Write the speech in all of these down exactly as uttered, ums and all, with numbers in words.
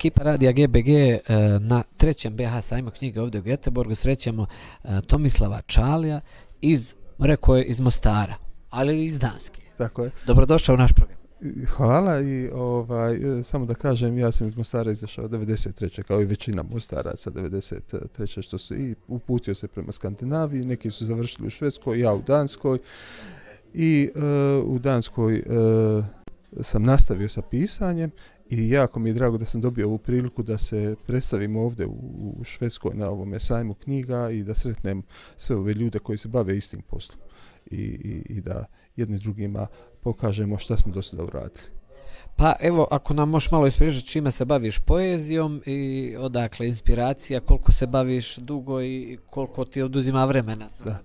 Ekipa Radija G B G na trećem B H sajmu knjige ovdje u Göteborgu srećemo Tomislava Čalija iz, rekao je, iz Mostara, ali iz Danske. Tako je. Dobrodošao u naš program. Hvala i ovaj, samo da kažem, ja sam iz Mostara izašao devedeset treće kao i većina Mostaraca devedeset treće što se i uputio se prema Skandinaviji, neki su završili u Švedskoj, ja u Danskoj i uh, u Danskoj uh, sam nastavio sa pisanjem i jako mi je drago da sam dobio ovu priliku da se predstavim ovdje u, u Švedskoj na ovome sajmu knjiga i da sretnem sve ove ljude koji se bave istim poslom i, i, i da jedni drugima pokažemo šta smo do sada uradili. Pa evo, ako nam možeš malo ispričati čime se baviš, poezijom i odakle inspiracija, koliko se baviš dugo i koliko ti oduzima vremena? Da.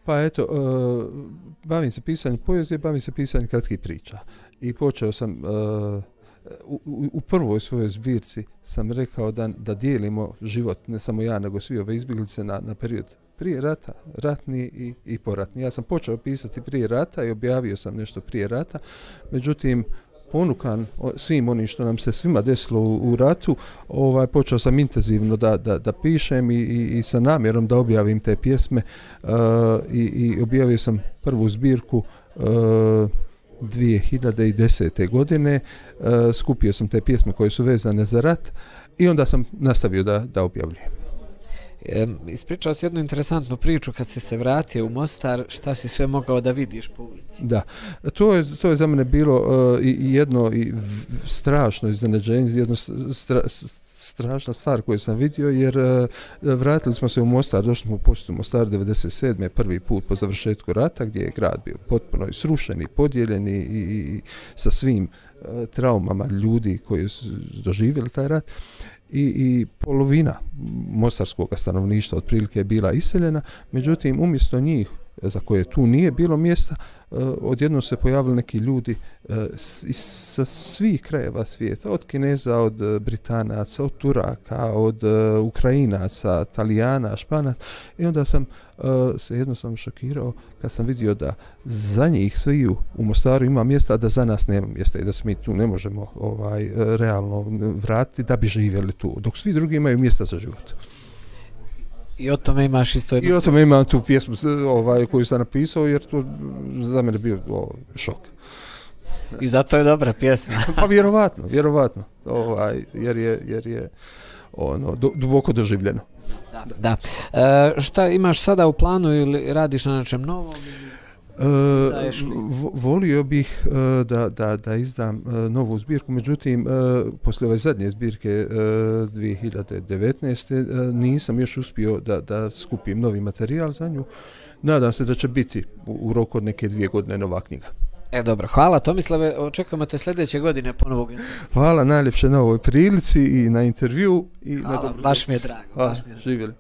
Pa eto, uh, bavim se pisanjem poezije, bavim se pisanjem kratkih priča i počeo sam uh, u, u, u prvoj svojoj zbirci sam rekao da, da dijelimo život, ne samo ja, nego svi ove izbjeglice na, na period prije rata, ratni i, i poratni. Ja sam počeo pisati prije rata i objavio sam nešto prije rata, međutim, ponukan svim onim što nam se svima desilo u, u ratu, ovaj, počeo sam intenzivno da, da, da pišem i, i, i sa namjerom da objavim te pjesme uh, i, i objavio sam prvu zbirku uh, dvije hiljade desete. godine, uh, skupio sam te pjesme koje su vezane za rat i onda sam nastavio da, da objavljujem. E, ispričao si jednu interesantnu priču kad si se vratio u Mostar, šta si sve mogao da vidiš po ulici. Da, to je, to je za mene bilo uh, i, i jedno i v, strašno iznenađenje, jedno stra, strašna stvar koju sam vidio, jer uh, vratili smo se u Mostar, došli smo u posjetu Mostar devedeset sedme. prvi put po završetku rata, gdje je grad bio potpuno srušen i podijeljen i, i, i sa svim uh, traumama ljudi koji su doživjeli taj rat. I, i polovina mostarskog stanovništva otprilike je bila iseljena, međutim umjesto njih za koje tu nije bilo mjesta, uh, odjednom se pojavili neki ljudi uh, s, sa svih krajeva svijeta, od Kineza, od uh, Britanaca, od Turaka, od uh, Ukrajinaca, Talijana, Španaca, i onda sam uh, se jednostavno šokirao kad sam vidio da za njih sviju u Mostaru ima mjesta, a da za nas nema mjesta i da se mi tu ne možemo ovaj, realno vratiti da bi živjeli tu, dok svi drugi imaju mjesta za život. I o tome imaš isto jednu... I o tome imam tu pjesmu ovaj, koju sam napisao, jer to za mene bio o, šok. I zato je dobra pjesma. Pa vjerovatno, vjerovatno. Ovaj, jer je, jer je ono, do, duboko doživljeno. Da. da. E, šta imaš sada u planu ili radiš na nečem novom? E, volio bih e, da, da, da izdam e, novu zbirku, međutim, e, poslije ove zadnje zbirke e, dvije hiljade devetnaeste. E, nisam još uspio da, da skupim novi materijal za nju. Nadam se da će biti u, u roku od neke dvije godine nova knjiga. E dobro, hvala Tomislave, očekujemo te sljedeće godine ponovog. Hvala najljepše na ovoj prilici i na intervju. I hvala, na baš mi je drago. Hvala, živjeli.